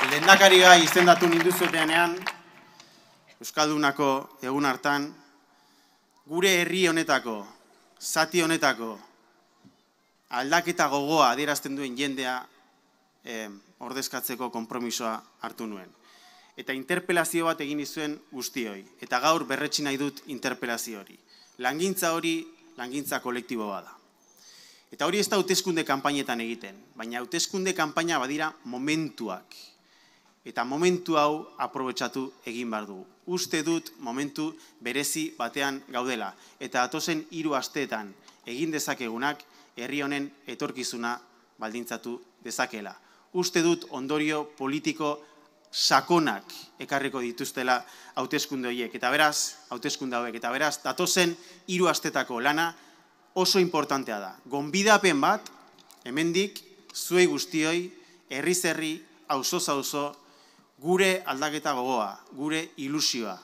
Lehendakari gai izendatu ninduzuetenean, Euskaldunako egun hartan, gure herri honetako, zati honetako, aldaketa gogoa adierazten duen jendea ordezkatzeko konpromisoa hartu nuen. Eta interpelazio bat egin izuen guztioi, eta gaur berretsi nahi dut interpelazio hori. Langintza hori, langintza kolektibo bada. Eta hori ez da hauteskunde kanpainetan egiten, baina hauteskunde kanpaina badira momentuak. Eta momentu hau aprobetxatu egin behar dugu. Uste dut momentu berezi batean gaudela. Eta datozen 3 asteetan egin dezakegunak herri honen etorkizuna baldintzatu dezakela. Uste dut ondorio politiko sakonak ekarriko dituztela hauteskunde horiek. Eta beraz, hauteskunde hauek, eta beraz, datozen 3 astetako lana oso importantea da. Gonbidapen bat, hemendik, zuei guztioi, herriz herri, auzoz auzo, gure aldaketa gogoa, gure ilusioa,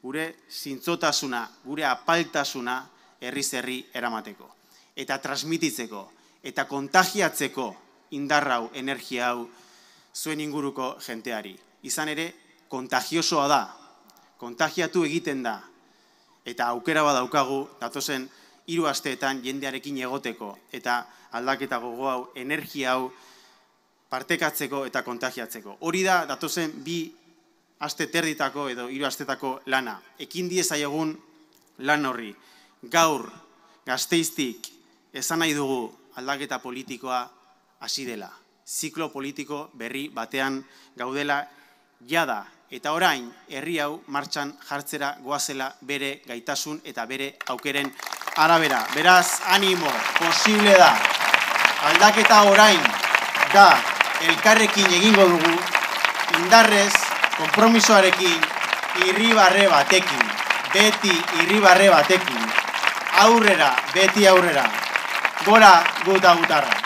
gure zintzotasuna, gure apaltasuna herriz herri eramateko. Eta transmititzeko, eta kontagiatzeko indarra hau, energia hau, zuen inguruko jenteari. Izan ere, kontagiosoa da, kontagiatu egiten da, eta aukera badaukagu, datozen 3 asteetan jendearekin egoteko, eta aldaketa gogo hau, energia hau, partekatzeko eta kontagiatzeko. Hori da, datozen 2 aste terditako edo 3 astetako lana. Ekin diezaiegun lan horri. Gaur, Gasteiztik, esan nahi dugu aldaketa politikoa hasi dela. Ziklo politiko berri batean gaudela jada. Eta orain, herri hau martxan jartzera goazela bere gaitasun eta bere aukeren arabera. Beraz, animo, posible da. Aldaketa orain da. Elkarrekin egingo dugu, indarrez, konpromisoarekin, irribarre batekin, beti irribarre batekin, aurrera, beti aurrera, gora guta gutarra.